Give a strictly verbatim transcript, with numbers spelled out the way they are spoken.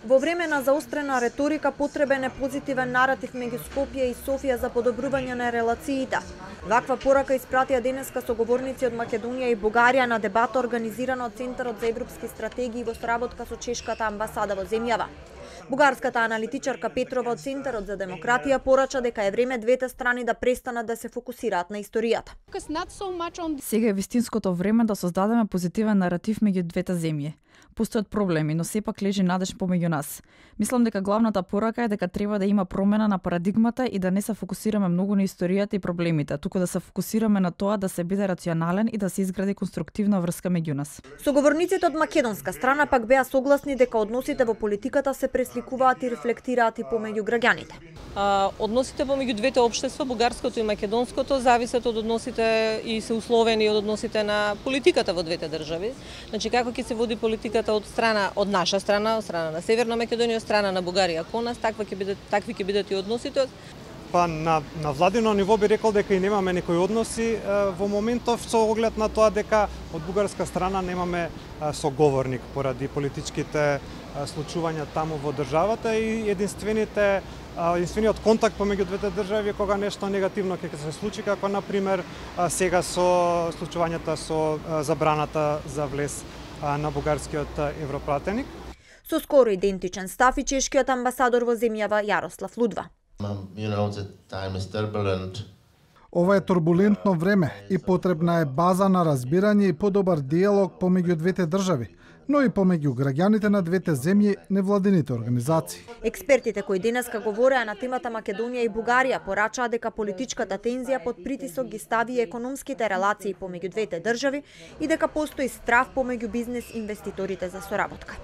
Во време на заострена реторика потребен е позитивен наратив меѓу Скопје и Софија за подобрување на релациите. Ваква порака испратија денеска соговорници од Македонија и Бугарија на дебата организирана од Центарот за европски стратегии во соработка со чешката амбасада во земјава. Бугарската аналитичарка Петрова од Центарот за демократија порача дека е време двете страни да престанат да се фокусираат на историјата. Сега е вистинското време да создадеме позитивен наратив меѓу двете земји. Постојат проблеми, но сепак лежи надеж помеѓу нас. Мислам дека главната порака е дека треба да има промена на парадигмата и да не се фокусираме многу на историјата и проблемите, туку да се фокусираме на тоа да се биде рационален и да се изгради конструктивна врска меѓу нас. Соговорниците од македонска страна пак беа согласни дека односите во политиката се пресликуваат и рефлектираат и помеѓу граѓаните. А, односите помеѓу двете општества, бугарското и македонското, зависат од односите и се условени од односите на политиката во двете држави. Значи како ќе се води политиката од страна од наша страна, од страна на Северна Македонија, од страна на Бугарија кон нас, таква ќе бидат такви ќе бидат и односите. Па на на владино ниво би рекол дека и немаме некои односи во моментов со оглед на тоа дека од бугарска страна немаме соговорник поради политичките случувања таму во државата и единствените единствениот контакт помеѓу двете држави кога нешто негативно ќе се случи, како на пример сега со случувањата со забраната за влез на бугарскиот европратеник. Со скоро идентичен став и чешкиот амбасадор во земјава Јарослав Лудва. Ова е турбулентно време и потребна е база на разбирање и подобар диалог помеѓу двете држави, но и помеѓу граѓаните на двете земји, невладините организации. Експертите кои денеска говореа на темата Македонија и Бугарија порачаа дека политичката тензија под притисок ги стави економските релации помеѓу двете држави и дека постои страв помеѓу бизнес инвеститорите за соработка.